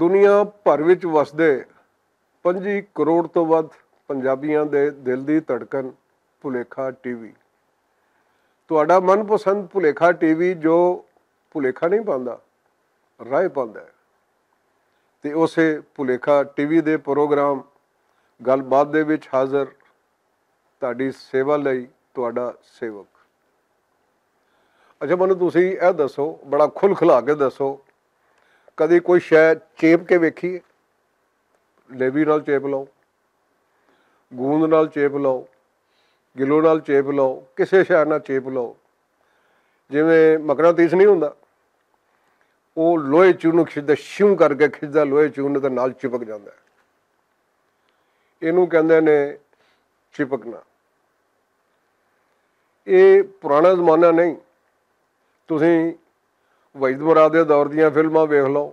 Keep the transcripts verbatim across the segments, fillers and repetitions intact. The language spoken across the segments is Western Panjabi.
دنیا بھر وچ وسدے پنجی کروڑ توں ودھ پنجابیاں دے دل دی تڑکن، پلیکھا ٹی وی۔ تہاڈا من پسند پلیکھا ٹی وی جو پلیکھا نہیں پاندا، رائے پاندا ہے۔ تے اسے پلیکھا ٹی وی دے پروگرام گل بات دے وچ حاضر، تہاڈی سیوا لئی تہاڈا سیوک۔ اچھا، مینوں تسی اے دسو، بڑا کھل کھلا کے دسو، کدی کوئی شے چیپ کے ویکھی ہے؟ لیوی نال چیپ لو، گوند نال چیپ لو، گلو نال چیپ لو، کسے شے نال چیپ لو۔ جویں مقناطیس نہیں ہوندا، او لوہے چون نوں کھچدا، شیوں کر کے کھچدا لوہے چون نوں تے نال چپک جاندا ہے۔ اینوں کہندے نے چپکنا۔ اے پرانا زمانہ نہیں۔ تسی وحید مراد دے دور دیاں فلماں ویکھ لو،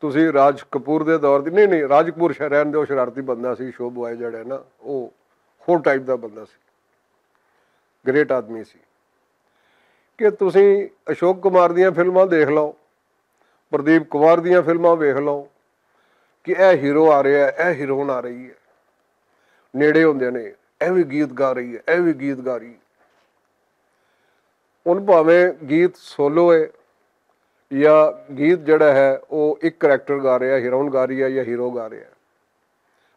تسی راج کپور دے دور دی، نہیں، نہیں، راج کپور شاید رہن دے، او شرارتی بندہ سی، شو بوائے جڑا ہے نا، او ہور ٹائپ دا بندہ سی، گریٹ آدمی سی۔ کہ تسی اشوک کمار دیاں فلماں دیکھ لو، پردیپ کمار دیاں فلماں ویکھ لو، کہ اے ہیرو آ رہا ہے، اے ہیروئن آ رہی ہے، نیڑے ہوندے نے، اے وی گیت گا رہی ہے، اے وی گیت گا رہی ہے۔ ہن بھاویں گیت سولو ہے یا گیت جڑا ہے او ایک کریکٹر گا رہا ہے، ہیروئن گا رہی ہے یا ہیرو گا رہا ہے،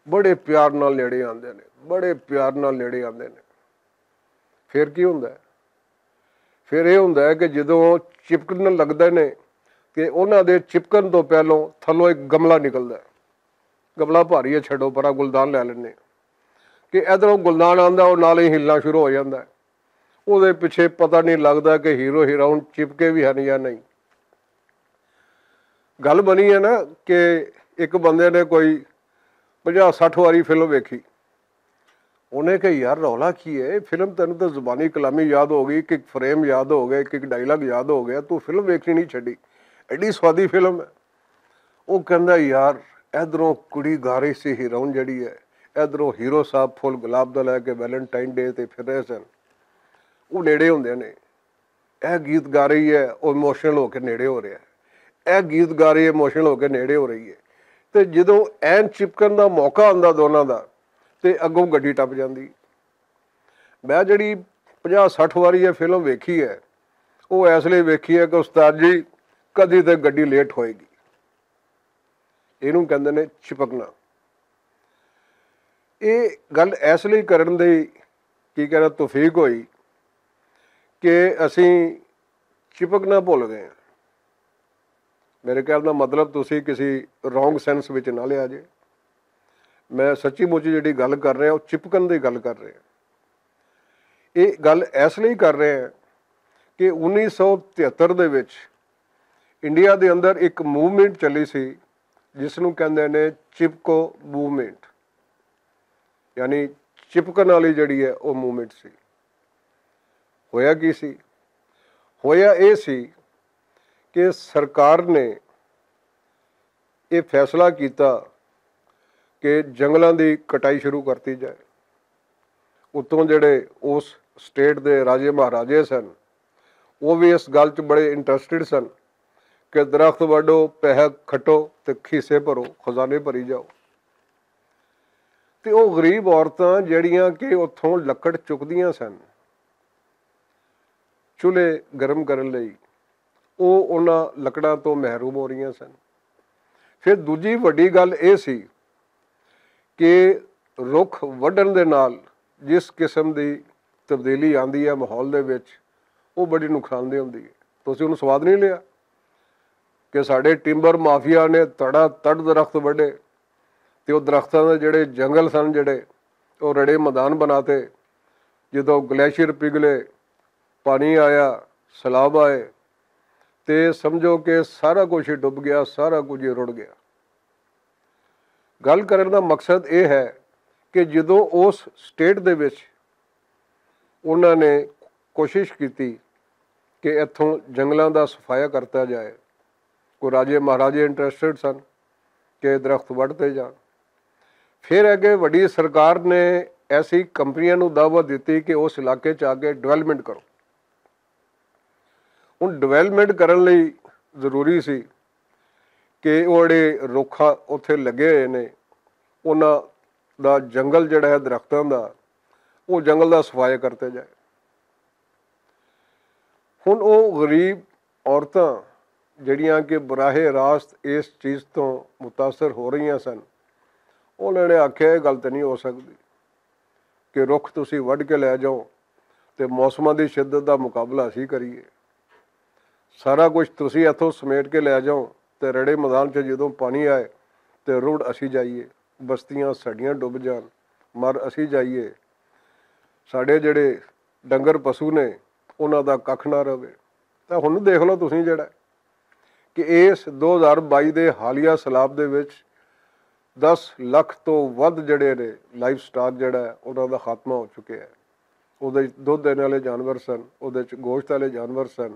بڑے پیار نال نیڑے آندے نے، بڑے پیار نال نیڑے آندے نے۔ پھر کی ہوندا ہے؟ پھر یہ ہوندا ہے کہ جدوں چپکن لگدے نے، کہ انہاں دے چپکن تو پہلوں تھلوں ایک گملہ نکلدا ہے۔ گملہ بھاری ہے، چھڈو پرا، گلدان لے لینے۔ کہ ادھروں گلدان آندا، او نال ہی ہلنا شروع ہو جاندا ہے۔ او دے پچھے پتہ نہیں لگدا کہ ہیرو ہیروئن چپکے بھی ہن یا نہیں۔ گل بنی ہے نا کہ ایک بندے نے کوئی پنجاہ سٹھ واری فلم ویکھی۔ انہیں کہ یار، رولا کی ہے؟ فلم تینوں تے زبانی کلامی یاد ہو گئی، ایک ایک فریم یاد ہو گیا، ایک ایک ڈائیلاگ یاد ہو گیا، تو فلم ویکھنی نہیں چھڈی، ایڈی سوادی فلم ہے۔ وہ کہندا، یار، ادھروں کڑی گا رہی سی، ہیروئن جڑی ہے، ادھروں ہیرو صاحب پھول گلاب دا لے کے ویلنٹائن ڈے تے پھر رہے سن۔ وہ نیڑے ہوندے نے، اے گیت گا رہی ہے، وہ ایموشنل ہو کے نیڑے ہو رہا ہے، اے گیت گا رہی ہے، ایموشنل ہو کے نیڑے ہو رہی ہے۔ تے جدوں این چپکن دا موقع آندا دوناں دا، تے اگوں گڈی ٹپ جاندی۔ میں جڑی پنجاہ سٹھ واری یہ فلم ویکھی ہے، وہ اس لیے ویکھی ہے کہ استاد جی، کدی تے گڈی لیٹ ہوئے گی۔ اینوں کہندے نے چپکنا۔ یہ گل اس لیے کرن دی، کی کہنا، توفیق ہوئی کہ اسی چپکنا بھول گئے ہیں۔ میرے کہنے دا مطلب، تسی کسی رانگ سینس وچ نہ لیا جے۔ میں سچی مچی جڑی گل کر رہا، وہ چپکن دی گل کر رہا۔ یہ گل اس لیے کر رہے ہیں کہ انیس سو تہتر دے وچ انڈیا دے اندر ایک موومنٹ چلی سی، جس نوں کہندے نے چپکو موومنٹ، یعنی چپکن والی جڑی ہے، وہ موومنٹ سی۔ ہویا کی سی؟ ہویا اے سی کہ سرکار نے یہ فیصلہ کیتا کہ جنگلاں دی کٹائی شروع کرتی جائے۔ اتوں جڑے اس سٹیٹ دے راجے مہاراجے سن، وہ بھی اس گل چ بڑے انٹرسٹڈ سن کہ درخت وڈو، پیہہ کھٹو تے کھیسے بھرو، خزانے بھری جاؤ۔ تے او غریب عورتاں جڑیاں کہ اتھوں لکڑ چکدیاں سن چولہے گرم کرن لئی، او انہاں لکڑاں توں محروم ہو رہیاں سن۔ پھر دوجی وڈی گل اے سی کہ رکھ وڈن دے نال جس قسم دی تبدیلی آندی ہے ماحول دے وچ، او بڑی نقصان دہ ہوندی ہے۔ تسی انہوں سواد نہیں لیا کہ ساڈے ٹمبر مافیا نے تڑا تڑ درخت وڈے، تے او درختاں دے جڑے جنگل سن، جڑے او رڑے میدان بناتے۔ جدوں گلیشیئر پگھلے، پانی آیا، سیلاب آئے، تے سمجھو کہ سارا کچھ ہی ڈب گیا، سارا کچھ ہی رڑ گیا۔ گل کرن دا مقصد اے ہے کہ جدوں اس سٹیٹ دے وچ انہاں نے کوشش کیتی کہ اتھوں جنگلاں دا صفایا کرتا جائے، کوئی راجے مہاراجے انٹرسٹڈ سن کہ درخت وڈھتے جان۔ پھر اگے وڈی سرکار نے ایسی کمپنیاں نوں دعوت دتی کہ اس علاقے چ آ کے ڈویلپمنٹ کرو۔ ہن ڈویلپمنٹ کرن لئی ضروری سی کہ او جیہڑے رکھ اتھے لگے ہوئے نے، انہاں دا جنگل جیہڑا ہے درختاں دا، او جنگل دا صفایا کرتے جائے۔ ہن او غریب عورتاں جیہڑیاں کہ براہ راست اس چیز توں متاثر ہو رہیاں سن، انہاں نے آکھیا، ایہہ گل تے نہیں ہو سکدی کہ رکھ تسی وڈ کے لے جاؤ تے موسماں دی شدت دا مقابلہ اسی کریے۔ سارا کچھ تسی اتھوں سمیٹ کے لے جاؤ تے رڑے میدان چ جدوں پانی آئے تے رڑ اسی جائیے، بستیاں ساڈیاں ڈب جان، مر اسی جائیے، ساڈے جیہڑے ڈنگر پسو نے، انہاں دا ککھ نہ رہے۔ تے ہن دیکھ لو تسی جیہڑا کہ اس دو ہزار بائی دے حالیہ سیلاب دے وچ دس لکھ توں ودھ جیہڑے نے لائف سٹاک جیہڑا ہے، انہاں دا خاتمہ ہو چکیا ہے۔ اوہدے وچ دودھ دینے والے جانور سن، اوہدے وچ گوشت والے جانور سن،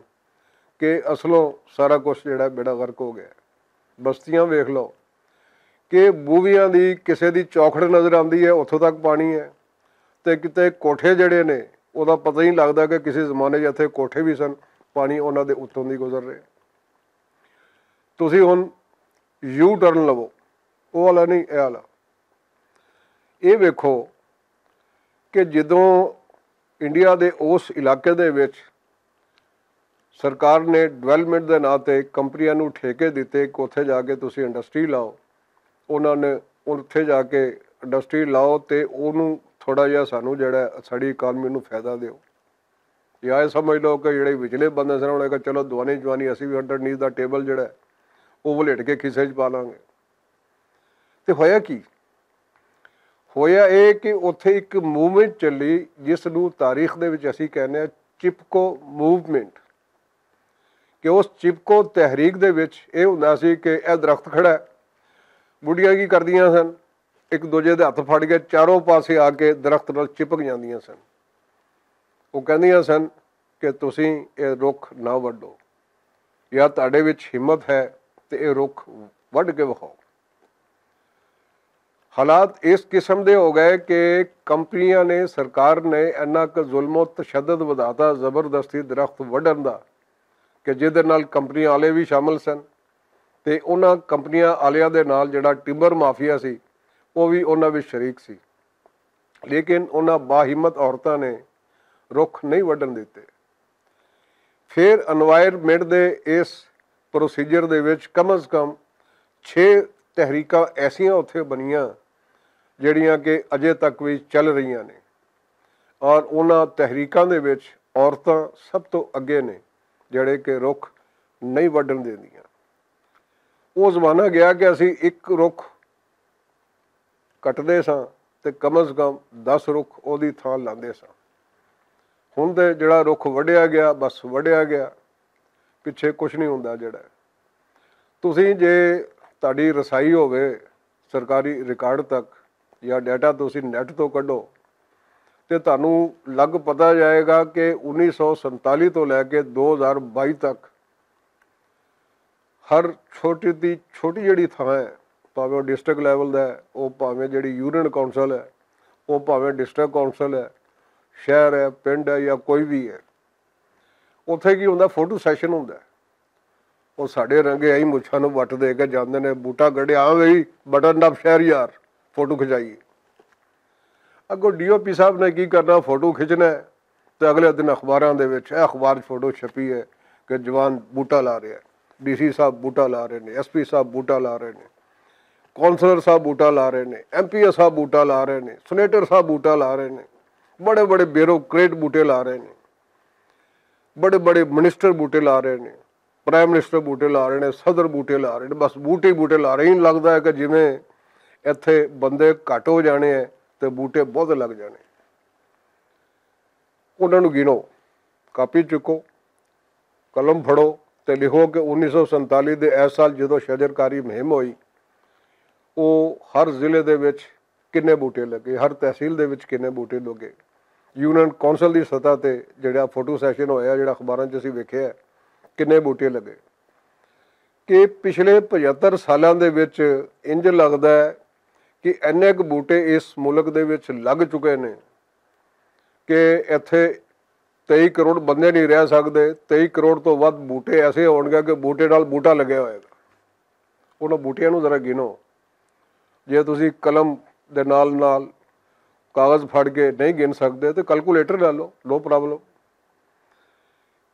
کہ اصلوں سارا کچھ جیہڑا ہے بیڑا غرق ہو گیا ہے۔ بستیاں ویکھ لو کہ بویاں دی کسے دی چوکھڑ نظر آندی ہے، اتھوں تک پانی ہے۔ تے کتے کوٹھے جیہڑے نے، اوہدا پتہ ہی نہیں لگدا کہ کسے زمانے جتھے کوٹھے وی سن، پانی انہاں دے اتھوں دی گزر رہے۔ تسی ہن یو ٹرن لوو، او والا نہیں، اے والا۔ اے ویکھو کہ جدوں انڈیا دے اس علاقے دے وچ سرکار نے ڈویلپمنٹ دے ناں تے کمپنیاں نوں ٹھیکے دتے کہ اتھے جا کے تسی انڈسٹری لاؤ، انہاں نے اتھے جا کے انڈسٹری لاؤ تے اوہنوں تھوڑا جہا سانوں جیہڑا ہے، ساڈی اکانومی نوں فائدہ دیو۔ یا اے سمجھ لو کہ جیہڑے وچلے بندے سن، انہاں نے کہا، چلو دوانی جوانی اسی وی انڈر نیز دا ٹیبل جیہڑا ہے، او ولیٹ کے کھیسے چ پا لاں گے۔ تے ہویا کی؟ ہویا اے کہ اتھے اک موومنٹ چلی، جس نوں تاریخ دے وچ اسی کہنے آں چپکو موومنٹ۔ کہ اس چپکو تحریک دے وچ اے ہوندا سی کہ اے درخت کھڑا ہے، بڈیاں کی کردیاں سن؟ اک دوجے دے ہتھ پھڑ کے چاروں پاسے آ کے درخت نال چپک جاندیاں سن۔ او کہندیاں سن کہ تسی اے رکھ نہ وڈو، یا تہاڈے وچ ہمت ہے تے اے رکھ وڈ کے وکھاؤ۔ حالات اس قسم دے ہو گئے کہ کمپنیاں نے، سرکار نے اینا کہ ظلم و تشدد ودھاتا، زبردستی درخت وڈن دا، کہ جدے نال کمپنیاں والے وی شامل سن تے انہاں کمپنیاں والیاں دے نال جیہڑا ٹمبر مافیا سی، او وی انہاں وچ شریک سی۔ لیکن انہاں باہمت عورتاں نے رکھ نہیں وڈن دتے۔ فیر انوائرمنٹ دے اس پروسیجر دے وچ کم از کم چھ تحریکاں ایسیاں اتھے بنیاں، جیہڑیاں کہ اجے تک وی چل رہیاں نے۔ اور انہاں تحریکاں دے وچ عورتاں سب توں اگے نے، جیہڑے کہ رکھ نہیں وڈن دیندیاں۔ او زمانہ گیا کہ اسی اک رکھ کٹدے ساں تے کم از کم دس رکھ اوہدی تھاں لاندے ساں۔ ہن تے جیہڑا رکھ وڈیا گیا، بس وڈیا گیا، پچھے کچھ نہیں ہوندا۔ جیہڑا تسی جے تہاڈی رسائی ہووے سرکاری ریکارڈ تک، یا ڈیٹا تسی نیٹ توں کڈو، تے تہانوں لگ پتا جائے گا کہ انیس سو سینتالی توں لے کے دو ہزار بائی تک ہر چھوٹی دی چھوٹی جیہڑی تھاں ہے، پاویں او ڈسٹرکٹ لیول دا ہے، او پاویں جیہڑی یونین کونسل ہے، او پاویں ڈسٹرکٹ کونسل ہے، شہر ہے، پنڈ ہے یا کوئی وی ہے، اتھے کی ہوندا؟ فوٹو سیشن ہوندا ہے۔ او ساڈے رنگے آئی مچھاں نوں وٹ دے کے جاندے نے، بوٹا گڈیا، آ وی بٹن ڈب شہر یار، فوٹو کھچائیے۔ اگوں ڈی او پی صاحب نے کی کرنا؟ فوٹو کھچنا ہے تے اگلے دن اخباراں دے وچ، اے اخبار چ فوٹو چھپی ہے کہ جوان بوٹا لا رہے ہیں، ڈی سی صاحب بوٹا لا رہے نے، ایس پی صاحب بوٹا لا رہے نے، کونسلر صاحب بوٹا لا رہے نے، ایم پی اے صاحب بوٹا لا رہے نے، سینیٹر صاحب بوٹا لا رہے نے، بڑے بڑے بیوروکریٹ بوٹے لا رہے نے، بڑے بڑے منسٹر بوٹے لا رہے نے، پرائم منسٹر بوٹے لا رہے نے، صدر بوٹے لا رہے نے، بس بوٹے ہی بوٹے لا رہے ہیں۔ لگدا ہے کہ جویں اتھے بندے گھٹ ہو جانے ہیں تے بوٹے بہت لگ جانے۔ انہاں نوں گنو، کاپی چکو، قلم پھڑو تے لکھو کہ انیس سو سینتالی دے ایس سال جدوں شجرکاری مہم ہوئی، او ہر ضلع دے وچ کنے بوٹے لگے، ہر تحصیل دے وچ کنے بوٹے لگے، یونین کونسل دی سطح تے جیہڑا فوٹو سیشن ہویا، جیہڑا اخباراں چ اسی ویکھیا ہے، کنے بوٹے لگے۔ کہ پچھلے پچھتر سالاں دے وچ انج لگدا ہے کہ اینے ک بوٹے اس ملک دے وچ لگ چکے نے کہ اتھے تئی کروڑ بندے نہیں رہ سکدے، تئی کروڑ توں ودھ بوٹے ایسے ہون گے کہ بوٹے نال بوٹا لگیا ہوئے گا۔ انہاں بوٹیاں نوں ذرا گنو۔ جے تسی قلم دے نال نال کاغذ پھڑ کے نہیں گن سکدے تے کیلکولیٹر لے لو، نو پرابلم۔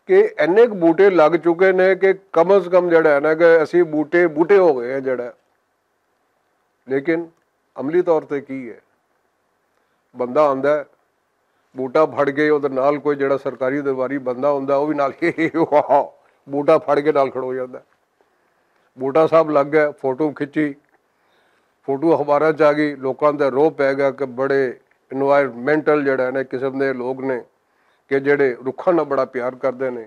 کہ انّے کوں بوٹے لگ چکے نے کہ کم از کم جیہڑا ہے نا کہ اسی بوٹے بوٹے ہو گئے ہیں جیہڑا۔ لیکن عملی طور تے کی ہے؟ بندہ آندا ہے، بوٹا پھڑ کے اودے نال کوئی جیہڑا سرکاری درباری بندہ ہوندا ہے او وی نال بوٹا پھڑ کے نال کھڑو ہو جاندا ہے۔ بوٹا صاحب لگ گیا، فوٹو کھچی، فوٹو اخباراں چ آ گئی، لوکاں تے روہ پے گیا کہ بڑے انوائرمنٹل جیہڑا ہے نا قسم دے لوگ نے کہ جیہڑے رکھاں نال بڑا پیار کردے نے،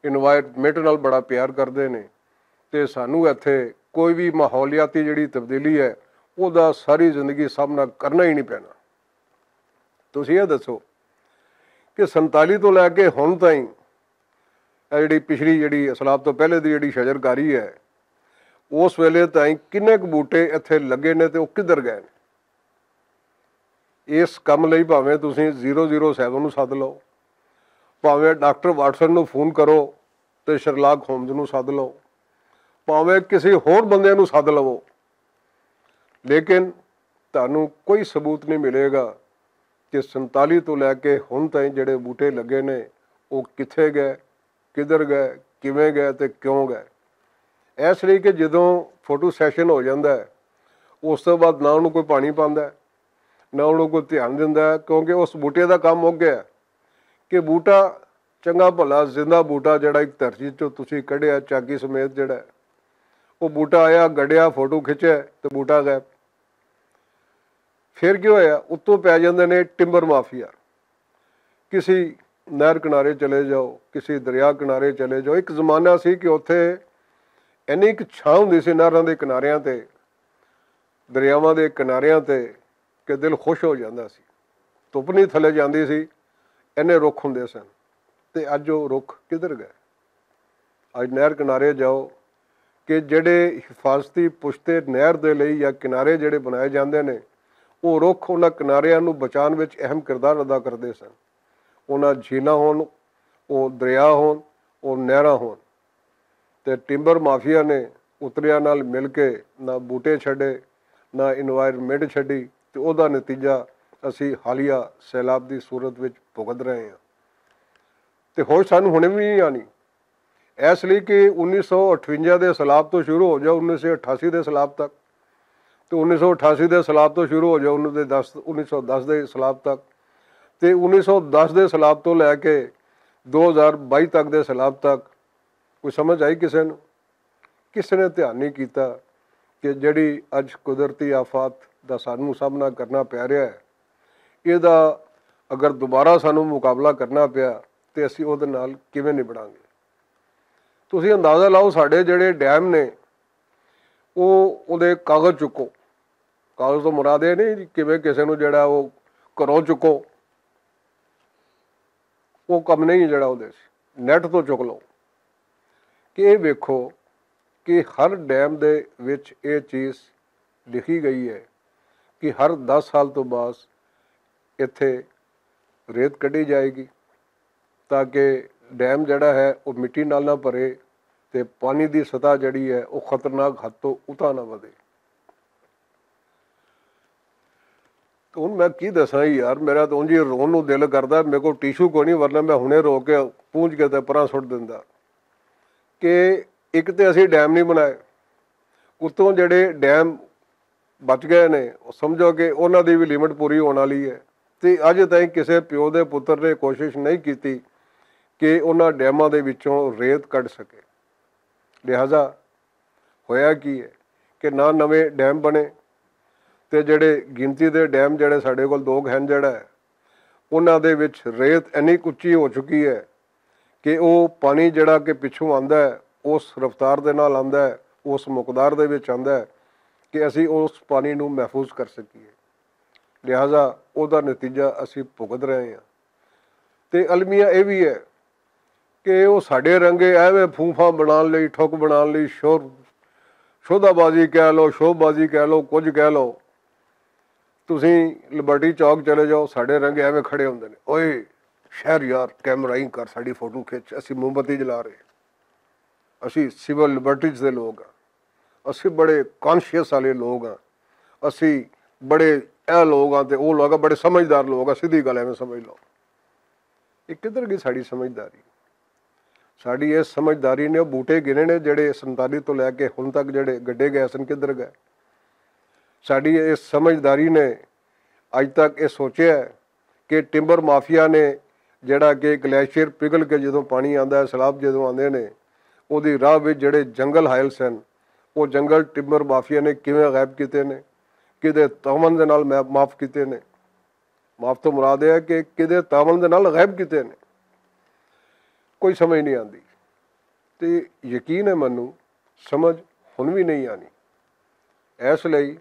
انوائرمنٹ نال بڑا پیار کردے نے۔ تے سانوں ایتھے کوئی وی ماحولیاتی جیہڑی تبدیلی ہے اوہدا ساری زندگی سامنا کرنا ہی نہیں پینا۔ تسی ایہہ دسو کہ سنتالی توں لے کے ہن تائیں ایہہ جیہڑی پچھلی جیہڑی اسلاب توں پہلے دی جیہڑی شجرکاری ہے اس ویلے تائیں کنے کوں بوٹے ایتھے لگے نے تے او کدھر گئے نے؟ اس کم لئی پاویں تسی زیرو زیرو سیون نوں سد لو، پاویں ڈاکٹر واٹسن نوں فون کرو، تے شرلاک ہومز نوں سد لو، پاویں کسی ہور بندے نوں سد لو، لیکن تہانوں کوئی ثبوت نہیں ملے گا کہ سنتالی توں لے کے ہن تائیں جیہڑے بوٹے لگے نے او کتھے گئے، کدھر گئے، کیویں گئے تے کیوں گئے۔ ایس لئی کہ جدوں فوٹو سیشن ہو جاندا ہے اس توں بعد نہ انہوں کوئی پانی پاندا ہے، نہ انہوں کوئی دھیان دیندا ہے کیونکہ اس بوٹے دا کم مک گیا ہے۔ کہ بوٹا چنگا بھلا زندہ بوٹا جیہڑا اک دھرتی چوں تسی کڈیا چاکی سمیت جیہڑا ہے، او بوٹا آیا گڈیا فوٹو کھچیا تے بوٹا گیا۔ فیر کیوں ہویا؟ اتوں پے جاندے نے ٹمبر مافیا۔ کسی نہر کنارے چلے جاؤ، کسی دریا کنارے چلے جاؤ۔ اک زمانہ سی کہ اتھے اینی اک چھاں ہوندی سی نہراں دے کناریاں تے، دریاواں دے کناریاں تے، کہ دل خوش ہو جاندا سی۔ تپنی تھلے جاندی سی، اینے رکھ ہوندے سن۔ تے اج او رکھ کدھر گئے؟ اج نہر کنارے جاؤ کہ جیہڑے حفاظتی پشتے نہر دے لئی یا کنارے جیہڑے بنائے جاندے نے، او رکھ انہاں کناریاں نوں بچان وچ اہم کردار ادا کردے سن۔ انہاں جھیلاں ہون، او دریا ہون، او نہراں ہون، تے ٹمبر مافیا نے اتریاں نال مل کے نہ بوٹے چھڈے، نہ انوائرمنٹ چھڈی، تے اوہدا نتیجہ اسی حالیہ سیلاب دی صورت وچ بھگت رہے ہاں۔ تے ہوش سانوں ہنے وی نہیں آنی۔ ایس لئی کہ انیس سو اٹھونجا دے سیلاب توں شروع ہو جاؤ انیس سو اٹھاسی دے سیلاب تک، تے انیس سو اٹھاسی دے سیلاب توں شروع ہو جاؤ انیس دے دس انیس سو دس دے سیلاب تک، تے انیس سو دس دے سیلاب توں لے کے دو ہزار بائی تک دے سیلاب تک، کوئی سمجھ آئی کسے نوں؟ کسے نے دھیان نہیں کیتا کہ جیہڑی اج قدرتی آفات دا سانوں سامنا کرنا پے رہیا ہے، ایہدا اگر دوبارہ سانوں مقابلہ کرنا پیا تے اسی اوہدے نال کیویں نبڑاں گے؟ تسی اندازہ لاؤ ساڈے جیہڑے ڈیم نے، او اوہدے کاغذ چکو۔ کاغذ توں مراد ایہہ نہیں کہ کسے نوں جیہڑا او گھروں چکو، او کم نہیں جیہڑا اوہدے سے نیٹ توں چک لو۔ کہ ایہہ ویکھو کہ ہر ڈیم دے وچ ایہہ چیز لکھی گئی ہے کہ ہر دس سال توں بعد اتھے ریت کڈی جائے گی، تاکہ ڈیم جیہڑا ہے او مٹی نال نہ بھرے، تے پانی دی سطح جیہڑی ہے او خطرناک حد توں اتھا نہ ودے۔ ہن میں کی دساں یار، میرا تاں اونجی رون نوں دل کردا، میرے کول ٹیشو کوئی نہیں، ورنہ میں ہنے رو کے پونج کے تے پراں سٹ دیندا۔ کہ اک تے اسی ڈیم نہیں بنائے، اتوں جیہڑے ڈیم بچ گئے نے، سمجھو کہ انہاں دی وی لمٹ پوری ہون والی ہے۔ تے اج تائیں کسے پیو دے پتر نے کوشش نہیں کیتی کہ انہاں ڈیماں دے وچوں ریت کڈ سکے۔ لہذا ہویا کی ہے کہ نہ نویں ڈیم بنے، تے جیہڑے گنتی دے ڈیم جیہڑے ساڈے کول دوگ ہن جیہڑا ہے، انہاں دے وچ ریت اینی اچی ہو چکی ہے کہ او پانی جیہڑا کہ پچھوں آندا ہے، اس رفتار دے نال آندا ہے، اس مقدار دے وچ آندا ہے کہ اسی اس پانی نوں محفوظ کر سکیے۔ لہذا اوہدا نتیجہ اسی بھگت رہے ہاں۔ تے المیہ ایہہ وی ہے کہ او ساڈے رنگے ایویں پھوپھاں بنان لئی ٹھک بنان لئی شور شودا بازی کہہ لو، شوب بازی کہہ لو، کچھ کہہ لو۔ تسی لبرٹی چوک چلے جاؤ، ساڈے رنگے ایویں کھڑے ہوندے نے، اوئے شہر یار، کیمرہ ہی کر، ساڈی فوٹو کھچ، اسی موم بتی جلا رہے ہیں۔ اسی سول لبرٹیز دے لوگ ہاں۔ اسی بڑے کانشیس والے لوگ ہاں، اسی بڑے اے لوگ ہاں تے او لوگ ہاں، بڑے سمجھدار لوگ ہاں، سیدھی گل ایویں سمجھ لو۔ یہ کدھر گئی ساڈی سمجھداری؟ ساڈی اس سمجھداری نے او بوٹے گنے نے جڑے سنتالی تو لے کے ہن تک جڑے گڈے گئے سن، کدھر گئے؟ ساڈی اس سمجھداری نے اج تک یہ سوچیا ہے کہ ٹمبر مافیا نے جڑا کہ گلیشیئر پگھل کے جدوں پانی آندا ہے، سیلاب جدوں آندے نے، اوہدی راہ وچ جڑے جنگل حائل سن، او جنگل ٹمبر مافیا نے کیویں غائب کیتے نے، کدے تاون دے نال معاف کیتے نے؟ معاف تو مراد یہ ہے کہ کدے تاون دے نال غائب کیتے نے؟ کوئی سمجھ نہیں آندی۔ تے یقین ہے مینوں، سمجھ ہن وی نہیں آنی۔ اس لئی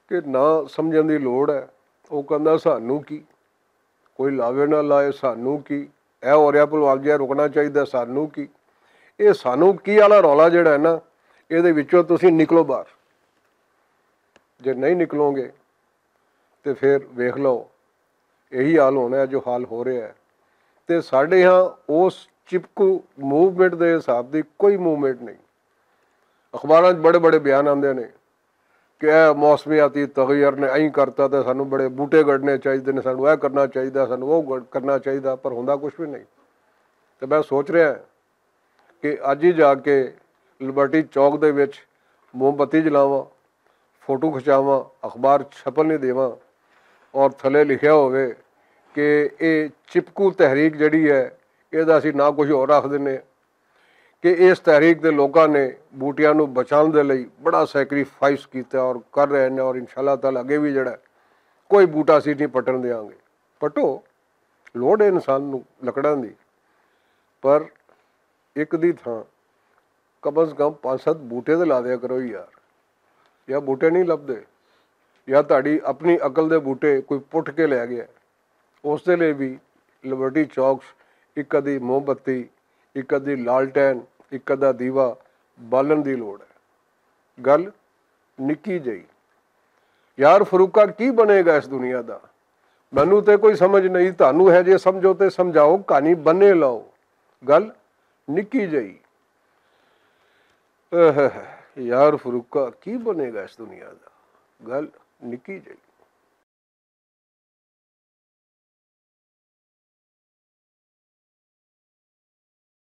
کہ نہ سمجھن دی لوڑ ہے۔ او کہندا، سانوں کی؟ کوئی لاوے نہ لائے، سانوں کی؟ اے ہو رہیا پلوال جی، رکنا چاہیدا، سانوں کی؟ اے سانوں کی والا رولا جڑا ہے نا، اے دے وچوں تسی نکلو باہر۔ جے نہیں نکلو گے تے پھر ویکھ لو، یہی حال ہونا ہے جو حال ہو رہا ہے۔ تے ساڈے ہاں اس چپکو موومنٹ دے حساب دی کوئی موومنٹ نہیں۔ اخباراں 'چ بڑے بڑے بیان آندے نے کہ اے موسمیاتی تغیر نے ایں کرتا تے سانوں بڑے بوٹے گڑنے چاہیدے نے، سانوں اے کرنا چاہیدا، سانوں او گڑ-، کرنا چاہیدا، پر ہوندا کچھ بھی نہیں۔ تے میں سوچ رہا کہ اج ہی جا کے لبرٹی چوک دے وچ موم بتی جلاواں، فوٹو کھچاواں، اخبار چھپن نہیں دیواں اور تھلے لکھیا ہووے کہ اے چپکو تحریک جڑی ہے، اے دا اسی نہ کچھ ہور رکھ دینے کہ اس تحریک دے لوکاں نے بوٹیاں نوں بچان دے لئی بڑا سیکریفائس کیتا اور کر رہے نے اور انشاءاللہ تعالیٰ اگے بھی جڑا ہے، کوئی بوٹا اسی نہیں پٹن دیاں گے۔ پٹو، لوڑ ہے انسان نوں لکڑاں دی، پر ایک دی تھاں کم از کم پانچ ست بوٹے تے لا دیا کرو یار۔ یا بوٹے نہیں لبدے، یا تہاڈی اپنی عقل دے بوٹے کوئی پٹ کے لے گیا۔ اس دے لئی بھی لبرٹی چوک 'چ ایک ادھی موم بتی، ایک ادھی لالٹین، ایک ادھا دیوا بالن دی لوڑ ہے۔ گل نکی جئی۔ یار فروقہ کی بنے گا اس دنیا دا؟ مینوں تے کوئی سمجھ نہیں، تانوں ہے جے سمجھو تے سمجھاؤ، کہانی بنے لاؤ۔ گل نکی جئی۔ اہ، یار فروقہ کی بنے گا اس دنیا دا؟ گل نکی جئی۔